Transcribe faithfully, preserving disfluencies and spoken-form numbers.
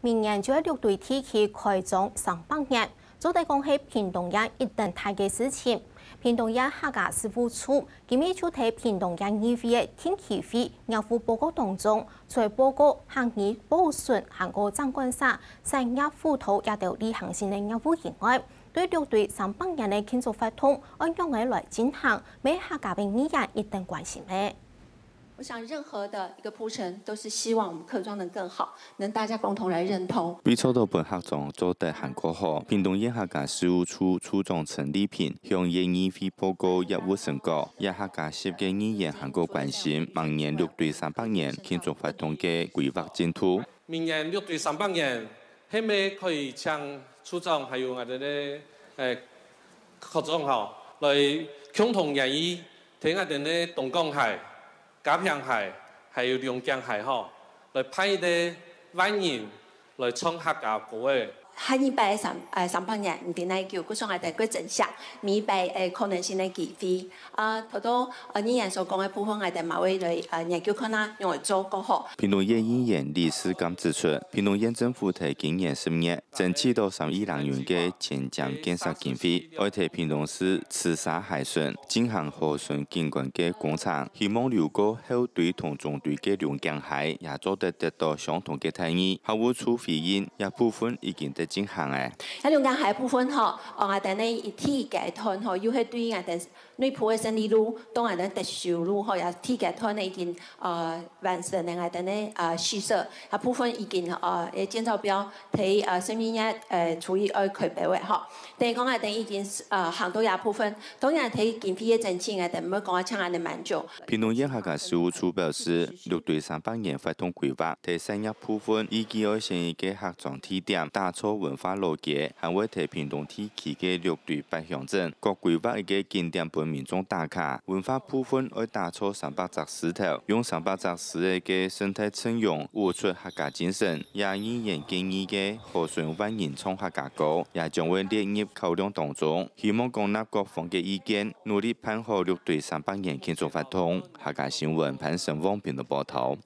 明年就係六堆地區開張三百年，做得講係屏東縣一等大个事情。屏東縣客家事務處今日就在屏東縣議會个定期會業務報告當中，除了報告客語保存還過長官舍、產業輔導這兜例行性个業務以外，對六堆三百年个慶祝活動愛仰仔來進行，乜係客家个議員一等關心个。 我想任何的一個鋪陳都是希望我們客庄能更好，能大家共同來認同。為著愛分客庄做得還過好，屏東縣客家事務處處長陳麗萍向縣議會報告業務成果，也客家籍个議員還過關心明年六堆三百年慶祝活動个規劃進度。明年六堆三百年，係毋係可以請處長還有𠊎兜个誒科長吼，來共同研議，同𠊎兜个東港溪、 嘉平溪，還有龍井溪吼，來辦一個萬人來唱客家歌仔。下二擺三誒三百年毋知哪久，故所𠊎兜過珍惜每一擺誒可能性个機會。啊，頭到呃議員所講个部分，𠊎兜嘛會來呃研究看啊，仰會做過好。屏東縣議員李世剛指出，屏東縣政府在今年十月 爭取到三億零銀个前瞻建設經費，愛在屏東市慈沙溪脣進行河漣景觀个工程，希望流過後堆同中堆个龍井溪也做得得到相同个待遇。客務處回應，這部分已經在進行了。該龍井溪部分吼，哦，𠊎兜呢一第一階段吼，又係對𠊎兜 內埔个勝利路，到𠊎兜德壽路吼，也第一階段呢已經呃完成了𠊎兜呢呃施設，啊部分已經呃个建造標，在呃十二月呃初一愛開標个吼。等於講𠊎兜已經呃行到這部分，當然在經費个申請，𠊎兜毋會講啊像恁呢滿足。屏東縣客家事務處表示，六堆三百年活動規劃，在產業部分預計愛成一個客庄地點，打造文化老街，還會在屏東地 區个六堆八鄉鎮，各規劃一個景點分民眾打卡。文化部分愛打造三百隻獅頭，用三百隻獅仔个生態陣容，舞出客家精神。也議員建議个河漣萬人唱客家歌，也將會列入考量當中，希望廣納各方个意見，努力辦好六堆三百年慶祝活動。客家新聞潘成旺編導報導。